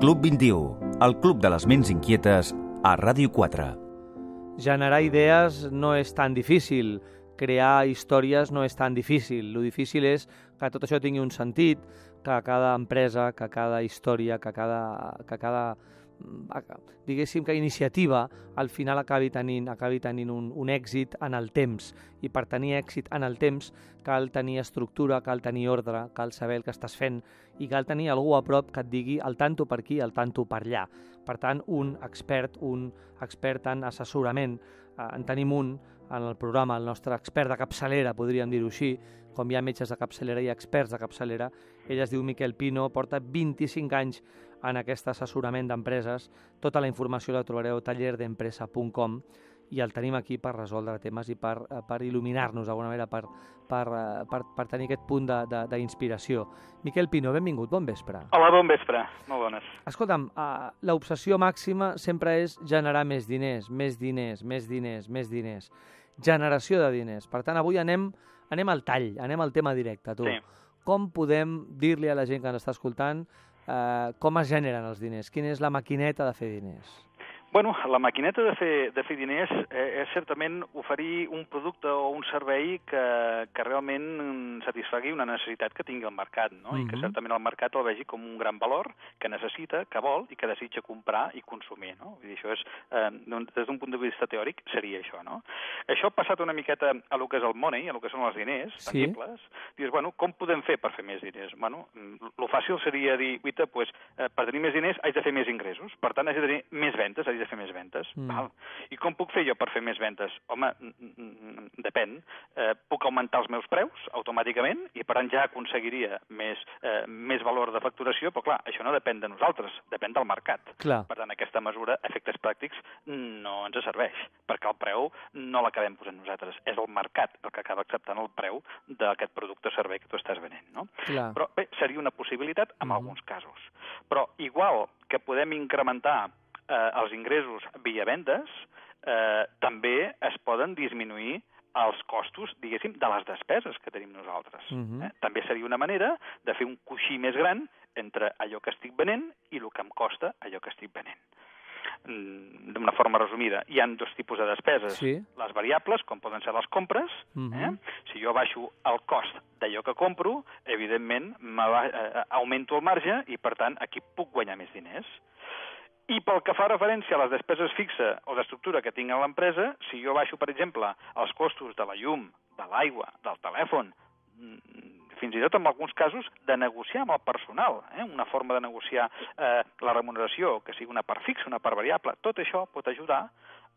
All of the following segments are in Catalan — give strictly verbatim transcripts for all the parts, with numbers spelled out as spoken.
Club vint-i-u, el club de les ments inquietes a Ràdio quatre. Generar idees no és tan difícil, crear històries no és tan difícil. Lo difícil és que tot això tingui un sentit, que cada empresa, que cada història, que cada, que cada diguéssim que iniciativa al final acabi tenint, acabi tenint un, un èxit en el temps. I per tenir èxit en el temps cal tenir estructura, cal tenir ordre, cal saber el que estàs fent i cal tenir algú a prop que et digui el tanto per aquí, el tanto per allà. Per tant, un expert, un expert en assessorament, eh, en tenim un en el programa, el nostre expert de capçalera, podríem dir-ho així, com hi ha metges de capçalera i experts de capçalera. Ell es diu Miquel Pino, porta vint-i-cinc anys en aquest assessorament d'empreses. Tota la informació la trobareu a taller d'empresa punt com i el tenim aquí per resoldre temes i per, per il·luminar-nos d'alguna manera, per, per, per, per tenir aquest punt d'inspiració. Miquel Pino, benvingut, bon vespre. Hola, bon vespre, molt bones. Escolta'm, uh, l'obsessió màxima sempre és generar més diners, més diners, més diners, més diners. Generació de diners. Per tant, avui anem, anem al tall, anem al tema directe, tu. Sí. Com podem dir-li a la gent que ens està escoltant eh, com es generen els diners? Quina és la maquineta de fer diners? Bueno, la maquineta de fer, de fer diners eh, és certament oferir un producte o un servei que, que realment satisfagui una necessitat que tingui el mercat, no? Uh-huh. I que certament el mercat el vegi com un gran valor que necessita, que vol i que desitja comprar i consumir, no? Vull dir, això és, eh, des d'un punt de vista teòric, seria això, no? Això ha passat una miqueta a lo que és el money, a lo que són els diners sí. tangibles. Dius, bueno, com podem fer per fer més diners? Bueno, lo fàcil seria dir, guita, pues, eh, per tenir més diners haig de fer més ingressos, per tant haig de tenir més ventes, haig de fer més ventes. Mm. Val. I com puc fer jo per fer més ventes? Home, depèn. Eh, puc augmentar els meus preus automàticament i per tant ja aconseguiria més, eh, més valor de facturació, però clar, això no depèn de nosaltres, depèn del mercat. Clar. Per tant, aquesta mesura, efectes pràctics, no ens serveix, perquè el preu no l'acabem posant nosaltres. És el mercat el que acaba acceptant el preu d'aquest producte o servei que tu estàs venent, no? Clar. Però bé, seria una possibilitat en mm. alguns casos. Però igual que podem incrementar Eh, els ingressos via vendes, eh, també es poden disminuir els costos, diguéssim, de les despeses que tenim nosaltres. Uh-huh. eh? També seria una manera de fer un coixí més gran entre allò que estic venent i el que em costa allò que estic venent. Mm, d'una forma resumida, hi ha dos tipus de despeses. Sí. Les variables, com poden ser les compres. Uh-huh. eh? Si jo baixo el cost d'allò que compro, evidentment va, eh, augmento el marge i, per tant, aquí puc guanyar més diners. I pel que fa referència a les despeses fixa o d'estructura que tinc a l'empresa, si jo baixo, per exemple, els costos de la llum, de l'aigua, del telèfon, fins i tot en alguns casos de negociar amb el personal, eh? una forma de negociar eh, la remuneració, que sigui una part fixa, una part variable, tot això pot ajudar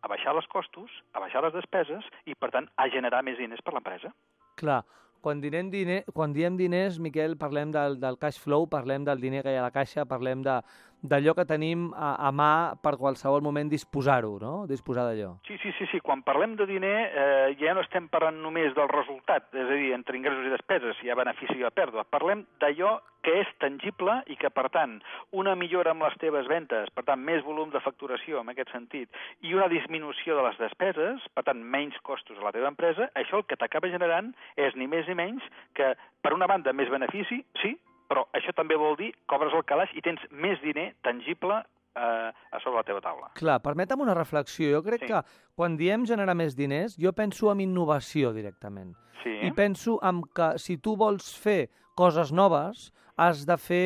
a baixar els costos, a baixar les despeses i, per tant, a generar més diners per l'empresa. Clar. Quan diem, diner, quan diem diners, Miquel, parlem del, del cash flow, parlem del diner que hi ha a la caixa, parlem de, d'allò que tenim a, a mà per qualsevol moment disposar-ho, no? Disposar d'allò. Sí, sí, sí, sí. Quan parlem de diner eh, ja no estem parlant només del resultat, és a dir, entre ingressos i despeses, hi ha benefici i pèrdua. Parlem d'allò que és tangible i que, per tant, una millora amb les teves ventes, per tant, més volum de facturació en aquest sentit, i una disminució de les despeses, per tant, menys costos a la teva empresa, això el que t'acaba generant és ni més ni menys que, per una banda, més benefici, sí, però això també vol dir que obres el calaix i tens més diner tangible eh, a sobre la teva taula. Clar, permetem una reflexió. Jo crec sí. que quan diem generar més diners, jo penso en innovació directament. Sí. I penso en que si tu vols fer coses noves, has de fer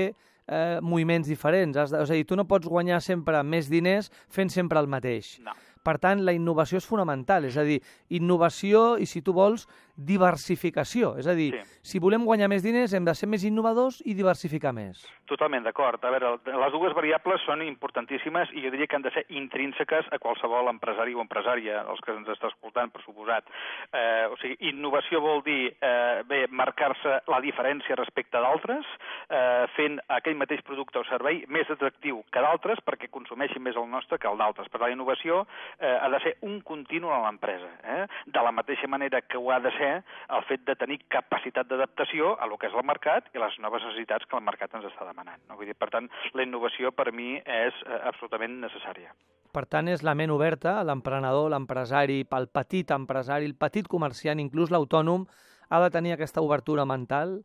eh, moviments diferents. Has de, és a dir, tu no pots guanyar sempre més diners fent sempre el mateix. No. Per tant, la innovació és fonamental, és a dir, innovació i, si tu vols, diversificació. És a dir, sí. si volem guanyar més diners hem de ser més innovadors i diversificar més. Totalment d'acord. A veure, les dues variables són importantíssimes i jo diria que han de ser intrínseques a qualsevol empresari o empresària, els que ens està escoltant, per suposat. Eh, o sigui, innovació vol dir, eh, bé, marcar-se la diferència respecte d'altres, eh, fent aquell mateix producte o servei més atractiu que d'altres perquè consumeixin més el nostre que el d'altres. Per la innovació eh, ha de ser un continu a l'empresa, eh? De la mateixa manera que ho ha de ser el fet de tenir capacitat d'adaptació a lo que és el mercat i les noves necessitats que el mercat ens està demanant. No? Vull dir, per tant, la innovació per mi és eh, absolutament necessària. Per tant, és la ment oberta, l'emprenedor, l'empresari, el petit empresari, el petit comerciant, inclús l'autònom, ha de tenir aquesta obertura mental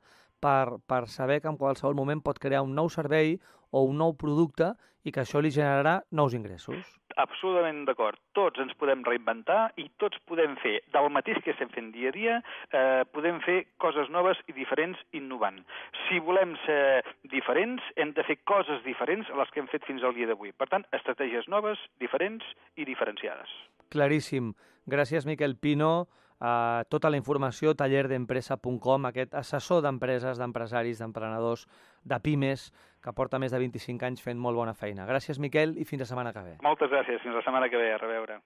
per, per saber que en qualsevol moment pot crear un nou servei o un nou producte i que això li generarà nous ingressos. Absolutament d'acord. Tots ens podem reinventar i tots podem fer, del mateix que estem fent dia a dia, eh, podem fer coses noves i diferents innovant. Si volem ser diferents, hem de fer coses diferents a les que hem fet fins al dia d'avui. Per tant, estratègies noves, diferents i diferenciades. Claríssim. Gràcies, Miquel Pino. Uh, tota la informació, taller d'empresa punt com, aquest assessor d'empreses, d'empresaris, d'emprenedors, de pimes, que porta més de vint-i-cinc anys fent molt bona feina. Gràcies, Miquel, i fins la setmana que ve. Moltes gràcies. Fins la setmana que ve. A reveure.